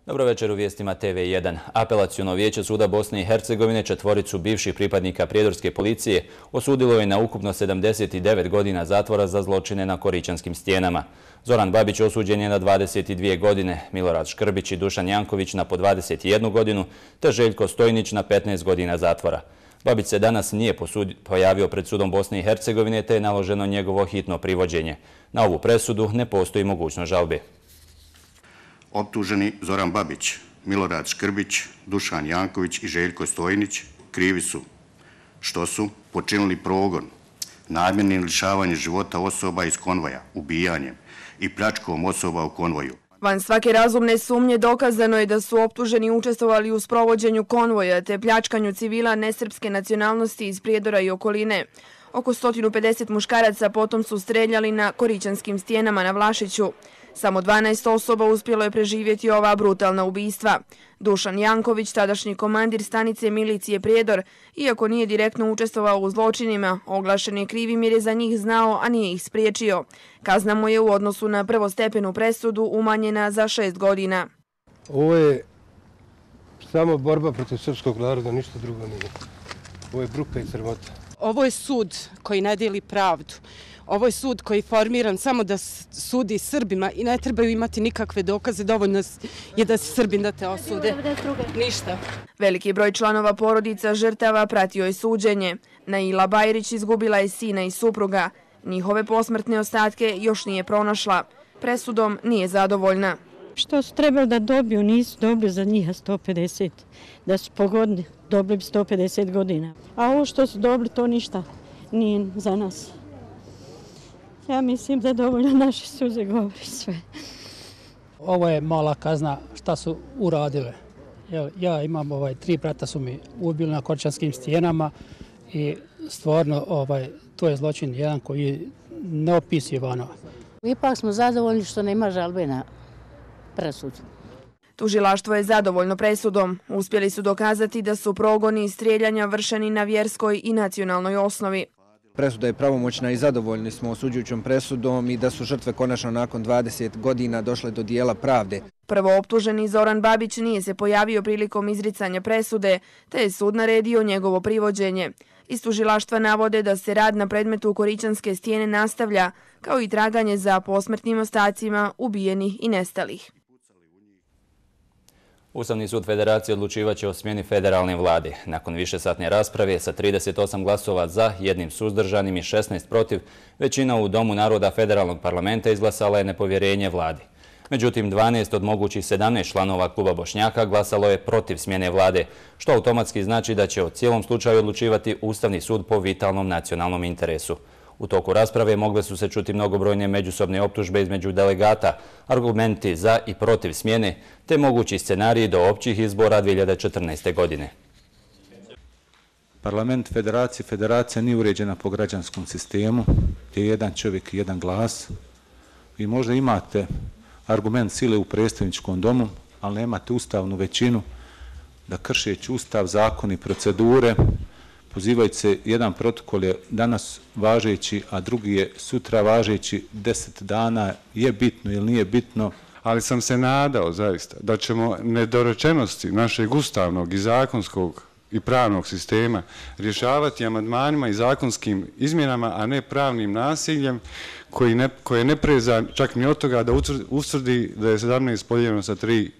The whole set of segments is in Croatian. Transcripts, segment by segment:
Dobro večer u vijestima TV1. Apelaciono vijeće suda Bosne i Hercegovine četvoricu bivših pripadnika prijedorske policije osudilo je na ukupno 79 godina zatvora za zločine na Koričanskim stijenama. Zoran Babić osuđen je na 22 godine, Milorad Škrbić i Dušan Janković na po 21 godinu, te Željko Stojnić na 15 godina zatvora. Babić se danas nije pojavio pred sudom Bosne i Hercegovine, te je naloženo njegovo hitno privođenje. Na ovu presudu ne postoji mogućnost žalbe. Optuženi Zoran Babić, Milorad Škrbić, Dušan Janković i Željko Stojnić krivi su što su počinili progon, namjernim lišavanjem života osoba iz konvoja, ubijanjem i pljačkom osoba u konvoju. Van svake razumne sumnje dokazano je da su optuženi učestvovali u sprovođenju konvoja te pljačkanju civila nesrpske nacionalnosti iz Prijedora i okoline. Oko 150 muškaraca potom su streljali na Koričanskim stijenama na Vlašiću. Samo 12 osoba uspjelo je preživjeti ova brutalna ubistva. Dušan Janković, tadašnji komandir stanice milicije Prijedor, iako nije direktno učestvovao u zločinima, oglašen je krivim jer je za njih znao, a nije ih spriječio. Kazna mu je u odnosu na prvostepenu presudu umanjena za 6 godina. Ovo je samo borba protiv srpskog naroda, ništa drugo nije. Ovo je bruka i sramota. Ovo je sud koji ne dijeli pravdu. Ovo je sud koji je formiran samo da sudi Srbima i ne trebaju imati nikakve dokaze, dovoljno je da se Srbin da te osude. Ništa. Veliki broj članova porodica žrtava pratio je suđenje. Naila Bajrić izgubila je sina i supruga. Njihove posmrtne ostatke još nije pronašla. Presudom nije zadovoljna. Što su trebali da dobiju, nisu dobili za njih 150. Da su pogodni, dobili bi 150 godina. A ovo što su dobili, to ništa nije za nas. Ja mislim da dovoljno naše suze govori sve. Ovo je mala kazna šta su uradile. Ja imam 3 brata su mi ubili na Koričanskim stijenama i stvarno to je zločin jedan koji je neopisivan. Ipak smo zadovoljni što nema žalbe na presudu. Tužilaštvo je zadovoljno presudom. Uspjeli su dokazati da su progoni i strijeljanja vršeni na vjerskoj i nacionalnoj osnovi. Presuda je pravomoćna i zadovoljni smo osuđujućom presudom i da su žrtve konačno nakon 20 godina došle do dijela pravde. Prvo optuženi Zoran Babić nije se pojavio prilikom izricanja presude, te je sud naredio njegovo privođenje. Iz tužilaštva navode da se rad na predmetu Koričanske stijene nastavlja, kao i traganje za posmrtnim ostacima ubijenih i nestalih. Ustavni sud Federacije odlučivaće o smjeni federalne vlade. Nakon višesatne rasprave sa 38 glasova za, 1 suzdržanim i 16 protiv, većina u Domu naroda federalnog parlamenta izglasala je nepovjerenje vladi. Međutim, 12 od mogućih 17 članova kluba Bošnjaka glasalo je protiv smjene vlade, što automatski znači da će o cijelom slučaju odlučivati Ustavni sud po vitalnom nacionalnom interesu. U toku rasprave mogle su se čuti mnogobrojne međusobne optužbe između delegata, argumenti za i protiv smjene, te mogući scenariji do općih izbora 2014. godine. Parlament federacija nije uređena po građanskom sistemu, gdje je jedan čovjek i jedan glas. Vi možda imate argument sile u predstavničkom domu, ali nemate ustavnu većinu da kršeći ustav, zakon i procedure, pozivajući se, jedan protokol je danas važeći, a drugi je sutra važeći, 10 dana je bitno ili nije bitno. Ali sam se nadao zaista da ćemo nedorečenosti našeg ustavnog i zakonskog i pravnog sistema rješavati amandmanima i zakonskim izmjenama, a ne pravnim nasiljem koje ne preza čak ni od toga da utvrdi da je 17 podijeljeno sa 3-5.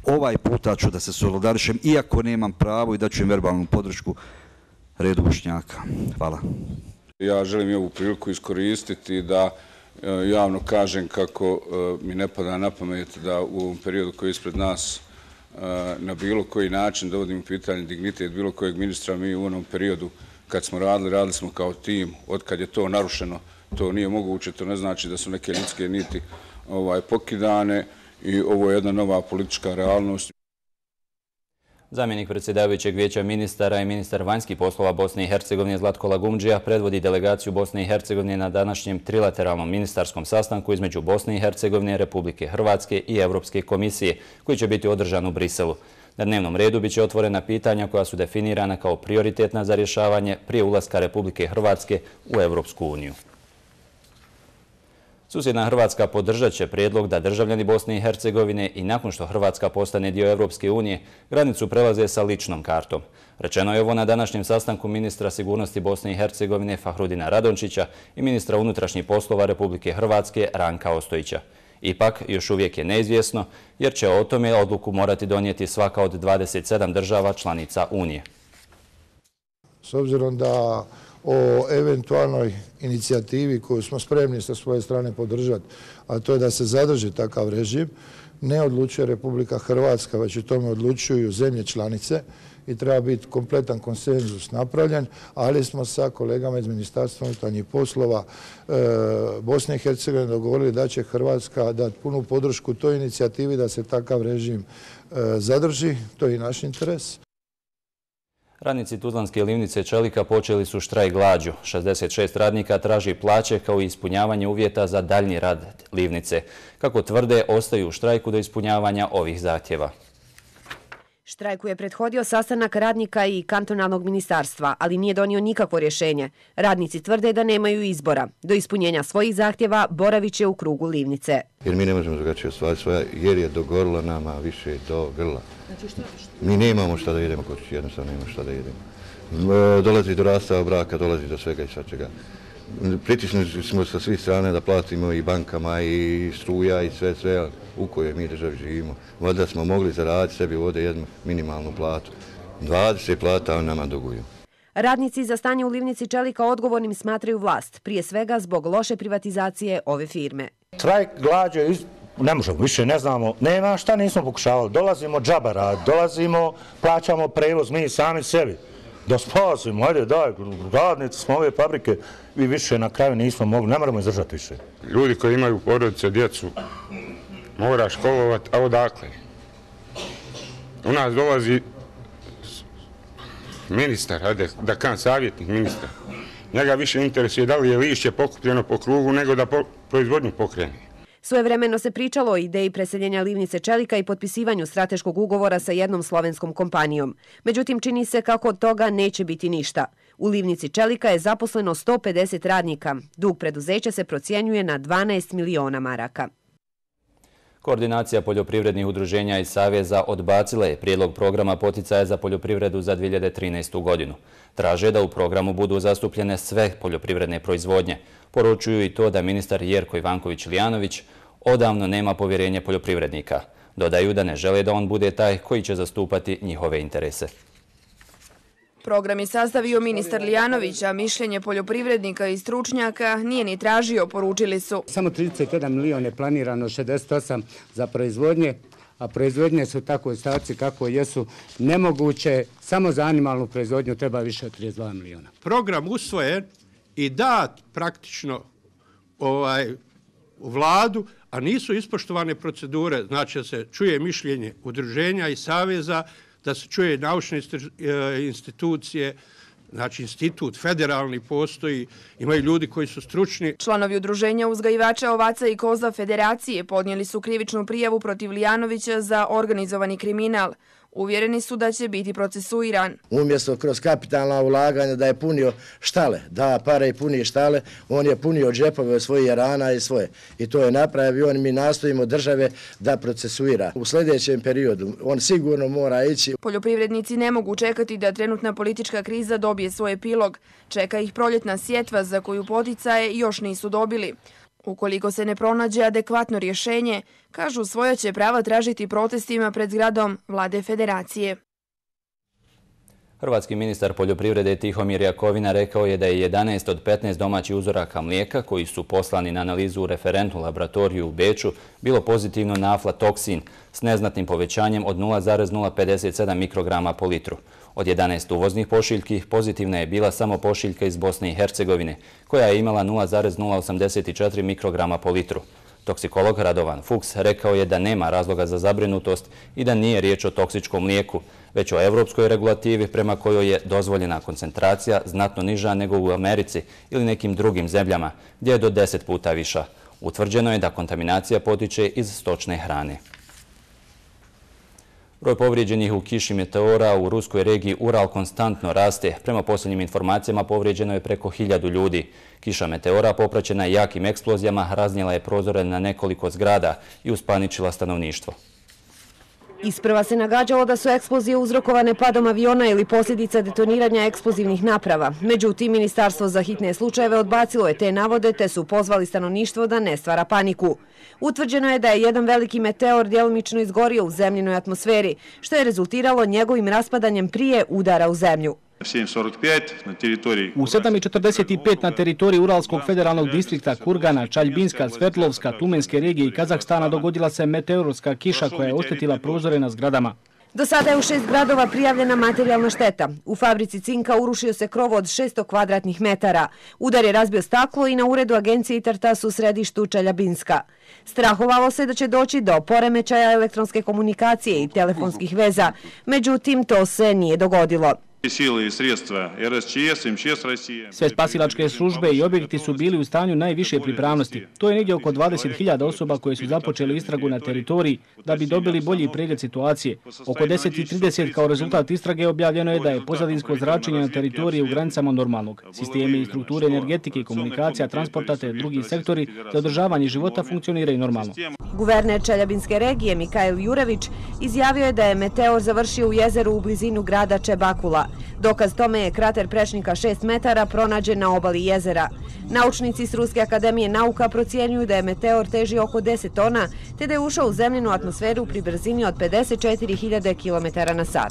Ovaj puta ću da se solidarišem, iako nemam pravo, i da ću im verbalnu podršku redu Bošnjaka. Hvala. Ja želim i ovu priliku iskoristiti da javno kažem kako mi ne pada na pamet da u ovom periodu koji je ispred nas na bilo koji način dovodim u pitanje dignitet bilo kojeg ministra. Mi u onom periodu kad smo radili smo kao tim. Otkad je to narušeno, to nije moguće. To ne znači da su neke ljudske niti pokidane i ovo je jedna nova politička realnost. Zamjenik predsjedavajućeg vijeća ministara i ministar vanjskih poslova Bosne i Hercegovine Zlatko Lagumdžija predvodi delegaciju Bosne i Hercegovine na današnjem trilateralnom ministarskom sastanku između Bosne i Hercegovine, Republike Hrvatske i Europske komisije, koji će biti održan u Briselu. Na dnevnom redu biće otvorena pitanja koja su definirana kao prioritetna za rješavanje prije ulaska Republike Hrvatske u Europsku uniju. Susjedna Hrvatska podržat će prijedlog da državljani Bosne i Hercegovine i nakon što Hrvatska postane dio Evropske unije, granicu prelaze sa ličnom kartom. Rečeno je ovo na današnjem sastanku ministra sigurnosti Bosne i Hercegovine Fahrudina Radončića i ministra unutrašnjih poslova Republike Hrvatske Ranka Ostojića. Ipak, još uvijek je neizvjesno, jer će o tome odluku morati donijeti svaka od 27 država članica Unije. S obzirom da o eventualnoj inicijativi koju smo spremni sa svoje strane podržati, a to je da se zadrži takav režim, ne odlučuje Republika Hrvatska, već o tome odlučuju zemlje članice i treba biti kompletan konsenzus napravljen, ali smo sa kolegama iz Ministarstva unutarnjih poslova Bosne i Hercegovine dogovorili da će Hrvatska dati punu podršku toj inicijativi da se takav režim zadrži. To je i naš interes. Radnici Tuzlanske livnice Čelika počeli su štrajk glađu. 66 radnika traži plaće kao i ispunjavanje uvjeta za daljnji rad livnice. Kako tvrde, ostaju u štrajku do ispunjavanja ovih zahtjeva. Štrajku je prethodio sastanak radnika i kantonalnog ministarstva, ali nije donio nikakvo rješenje. Radnici tvrde da nemaju izbora. Do ispunjenja svojih zahtjeva boravit će u krugu livnice. Jer mi ne možemo drugačije ostvariti svoja, jer je do gorla nama više do grla. Mi nemamo šta da jedemo kod kući, jednostavno nemamo šta da jedemo. Dolazi do rastava braka, dolazi do svega i svačega. Pritisnuti smo sa svih strane da platimo i bankama i struja i sve u kojoj mi državi živimo. Valjda smo mogli zaraditi sebi ovdje jednu minimalnu platu. 20 plata oni nama duguju. Radnici za stanje u livnici Čelika odgovornim smatraju vlast, prije svega zbog loše privatizacije ove firme. Štrajk glađe, ne možemo, više ne znamo, nema šta nismo pokušavali. Dolazimo džabara, dolazimo, plaćamo prevoz mi sami sebi. Da spasimo, ajde daj, radnici smo ove fabrike, vi više na kraju nismo mogli, ne moramo izdržati više. Ljudi koji imaju porodice, djecu, mora školovati, a odakle? U nas dolazi ministar, ajde da kažem savjetnik ministar. Njega više interesuje da li je lišće pokupljeno po krugu nego da proizvodnju pokrene. Svojevremeno se pričalo o ideji preseljenja livnice Čelika i potpisivanju strateškog ugovora sa jednom slovenskom kompanijom. Međutim, čini se kako od toga neće biti ništa. U livnici Čelika je zaposleno 150 radnika. Dug preduzeća se procjenjuje na 12 miliona maraka. Koordinacija poljoprivrednih udruženja i saveza odbacila je prijedlog programa poticaja za poljoprivredu za 2013. godinu. Traže da u programu budu zastupljene sve poljoprivredne proizvodnje. Poručuju i to da ministar Jerko Ivanković-Lijanović odavno nema povjerenje poljoprivrednika. Dodaju da ne žele da on bude taj koji će zastupati njihove interese. Program je sastavio ministar Lijanović, a mišljenje poljoprivrednika i stručnjaka nije ni tražio, poručili su. Samo 31 milion je planirano, 68 za proizvodnje, a proizvodnje su tako u stavci kako jesu nemoguće. Samo za animalnu proizvodnju treba više od 32 miliona. Program usvojen i dat praktično u vladu, a nisu ispoštovane procedure, znači da se čuje mišljenje udruženja i saveza, da se čuje naučne institucije, znači institut federalni postoji, imaju ljudi koji su stručni. Članovi udruženja uzgajivača ovaca i koza Federacije podnijeli su krivičnu prijavu protiv Lijanovića za organizovani kriminal. Uvjereni su da će biti procesuiran. Umjesto kroz kapitalna ulaganja da je punio štale, da pare i puni štale, on je punio džepove svojih jarana i svoje. I to je napravio, mi nastojimo države da procesuira. U sljedećem periodu on sigurno mora ići. Poljoprivrednici ne mogu čekati da trenutna politička kriza dobije svoj epilog. Čeka ih proljetna sjetva za koju poticaje još nisu dobili. Ukoliko se ne pronađe adekvatno rješenje, kažu svoja će prava tražiti protestima pred zgradom Vlade Federacije. Hrvatski ministar poljoprivrede Tihomir Jakovina rekao je da je 11 od 15 domaćih uzoraka mlijeka koji su poslani na analizu u referentnu laboratoriju u Beču bilo pozitivno na aflatoksin s neznatnim povećanjem od 0,057 mikrograma po litru. Od 11 uvoznih pošiljki pozitivna je bila samo pošiljka iz Bosne i Hercegovine, koja je imala 0,084 mikrograma po litru. Toksikolog Radovan Fuchs rekao je da nema razloga za zabrinutost i da nije riječ o toksičkom mlijeku, već o evropskoj regulativi prema kojoj je dozvoljena koncentracija znatno niža nego u Americi ili nekim drugim zemljama, gdje je do 10 puta viša. Utvrđeno je da kontaminacija potiče iz stočne hrane. Broj povrijeđenih u kiši meteora u ruskoj regiji Ural konstantno raste. Prema posljednjim informacijama povrijeđeno je preko 1000 ljudi. Kiša meteora popraćena jakim eksplozijama raznijela je prozore na nekoliko zgrada i uspaničila stanovništvo. Isprva se nagađalo da su eksplozije uzrokovane padom aviona ili posljedica detoniranja eksplozivnih naprava. Međutim, Ministarstvo za hitne slučajeve odbacilo je te navode te su pozvali stanovništvo da ne stvara paniku. Utvrđeno je da je jedan veliki meteor djelomično izgorio u zemljinoj atmosferi, što je rezultiralo njegovim raspadanjem prije udara u zemlju. U 7:45 na teritoriji Uralskog federalnog distrikta Kurgana, Čaljbinska, Svetlovska, Tumenske regije i Kazahstana dogodila se meteorska kiša koja je oštetila prozore na zgradama. Do sada je u 6 gradova prijavljena materijalna šteta. U fabrici cinka urušio se krov od 600 kvadratnih metara. Udar je razbio staklo i na uredu agencije Itartas u središtu Čeljabinska. Strahovalo se da će doći do poremećaja elektronske komunikacije i telefonskih veza. Međutim, to se nije dogodilo. Sve spasilačke službe i objekti su bili u stanju najviše pripravnosti. To je negdje oko 20.000 osoba koje su započeli istragu na teritoriji da bi dobili bolji pregled situacije. Oko 10:30 kao rezultat istrage objavljeno je da je pozadinsko zračenje na teritoriji u granicama normalnog. Sistemi i strukture energetike, komunikacija, transporta te drugi sektori za održavanje života funkcioniraju normalno. Guverner Čeljabinske regije Mikail Jurević izjavio je da je meteor završio u jezeru u blizinu grada Čebakula. Dokaz tome je krater prečnika 6 metara pronađen na obali jezera. Naučnici s Ruske akademije nauka procjenjuju da je meteor teži oko 10 tona, te da je ušao u zemljinu atmosferu pri brzini od 54.000 km/h.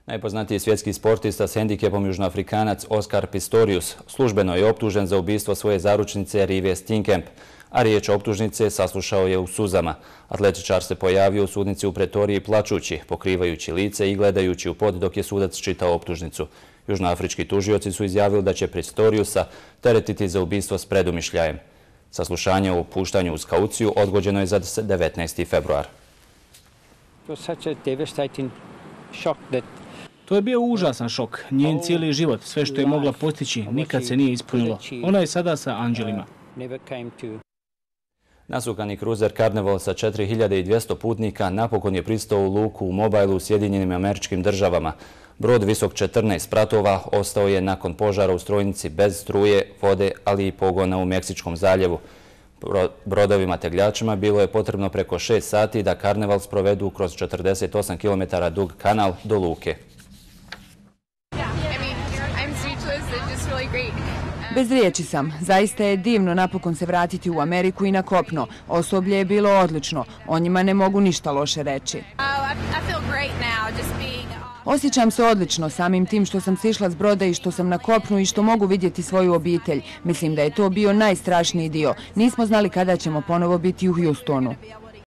Najpoznatiji svjetski sportista s hendikepom Južnoafrikanac Oskar Pistorius službeno je optužen za ubistvo svoje zaručnice Rive Steenkamp, a riječ optužnice saslušao je u suzama. Atletičar se pojavio u sudnici u Pretoriji plačući, pokrivajući lice i gledajući u pod dok je sudac čitao optužnicu. Južnoafrički tužioci su izjavili da će Pistoriusa teretiti za ubistvo s predumišljajem. Saslušanje o puštanju uz kauciju odgođeno je za 19. februar. To je bio užasan šok. Njen cijeli život, sve što je mogla postići, nikad se nije ispunilo. Ona je sada sa anđelima. Nasukani kruzer Carnival sa 4200 putnika napokon je pristao u luku u Mobilu u Sjedinjenim Američkim Državama. Brod visok 14 spratova ostao je nakon požara u strojnici bez struje, vode, ali i pogona u Meksičkom zaljevu. Brodovima tegljačima bilo je potrebno preko 6 sati da Carnival sprovedu kroz 48 km dug kanal do luke. Bez riječi sam. Zaista je divno napokon se vratiti u Ameriku i na kopno. Osoblje je bilo odlično. O njima ne mogu ništa loše reći. Osjećam se odlično samim tim što sam sišla s broda i što sam na kopnu i što mogu vidjeti svoju obitelj. Mislim da je to bio najstrašniji dio. Nismo znali kada ćemo ponovo biti u Houstonu.